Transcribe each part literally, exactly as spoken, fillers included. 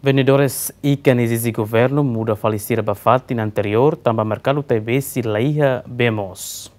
Vendedores ikan ezije governu muda fali sira ba fatin anteriór, tanba merkadu Taibesi la iha bee moos.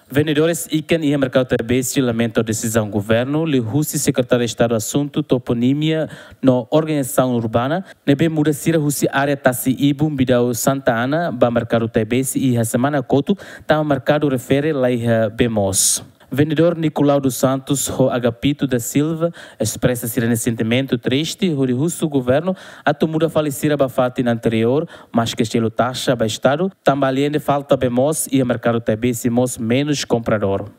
Vendedores ikan iha merkadu Taibesi lamenta desizaun governu liuhusi Sekretáriu Estadu Asuntu Toponímia no Organizasaun Urbana, ne'ebé muda sira husi área tasi-ibun Bidau Santa Ana ba merkadu Taibesi iha semana kotuk, tanba merkadu refere la iha bee moos. Vendedór Nicolau dos Santos ho Agapito da Silva espresa sira-nia sentimentu triste hodi husu governu atu muda fali sira ba fatin anteriór, maske selu taxa ba Estadu, tanba alende falta bee moos iha merkadu Taibesi mós menus kompradór.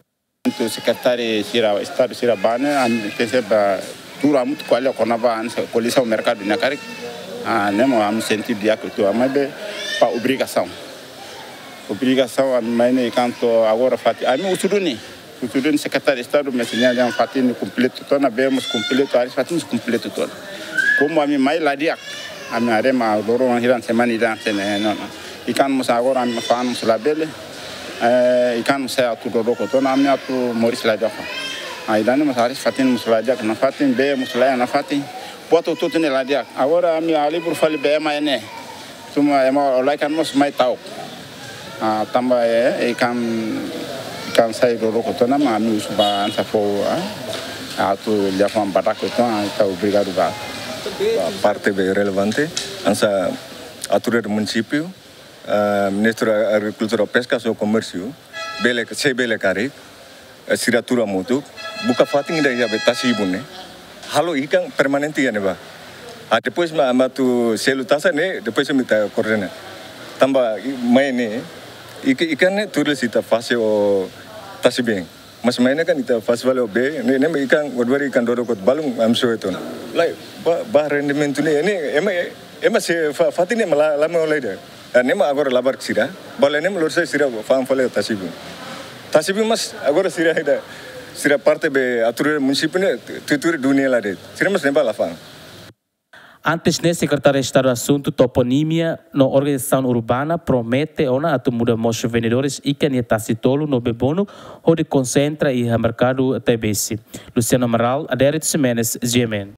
Sekretáriu sira Estadu sira bá ne'e, ami tenke ba tuur hamutuk ko'alia kona-ba hanesan ko'alia merkadu ne'e karik. Ah, ne'e mak ami sente di'ak uitoan, maibé ba obrigasaun. Obrigasaun ami mai ne'e, enkuantu agora fatin, ami husu duni. Husu duni Sekretáriu Estadu, mas nia dehan fatin ne'e kompletu tiha ona, bee mós kompletu, aris fatin mós kompletu tiha ona. Komu ami mai la di'ak, ami haree ema loron hirak semana ida hanesan ne'e, no, no. Ikan mós agora ami fa'an mós labele, eh, ikan mós sai atu dodoko tiha ona, ami atu moris la di'ak. Ah, ida-ne'e mós aris fatin mós la di'ak nafatin, bee mós la iha nafatin. Buat hotu-hotu ne'e la di'ak. Agora ami halibur fali bee mai ne'e. Tuma ema hola ikan mós mai ta'uk. Ah, tanba, eh, ikan, ikan sai dodoko tiha ona, mak ami husu ba hanesan fó, ah, atu liafuan badak tiha ona, ita obrigadu ba. Ba parte bee relevante, hanesan autoridade munisípiu, ah, Ministru Agrikultura, Peska no Komérsiu, bele, se bele karik, eh, sira tuur hamutuk, buka fatin ida iha bee tasi-ibun ne'e. Halo ikan permanente iha ne'ebá. Ah, depois mak, mak atu selu taxa ne'e, depois mak ita koordena. Tanba i-, mai ne'e, ik-, ikan ne'e tuir lei ita fase ho tasi-been. Mas mai ne'e kan ita fase fali ho bee, ne'e, ne'e mak ikan, buat barak ikan dodoko balun ami soe tiha ona. Lai, ba, ba rendimentu ne'e, ne'e, ema, ema se fa-, fatin ne'e mak la, la mai hola ida. Ah, ne'e mak agora labarik sira. Bala ne'e mak lori sai sira fa'an fali tasi-been. Tasi-been mós agora sira ida, sira parte bee autoridade munisípiu ne'e, tu-, tuir dunia la de'it. Sira mós ne'ebá la fa'an. Antes ne'e, Sekretáriu Estadu Asuntu Toponímia no Organizasaun Urbana promete ona atu muda moos vendedores ikan iha Tasi Tolu no Bebonu, hodi konsentra iha merkadu Taibesi. Luciano Amaral, Adérito Ximenes, G M N.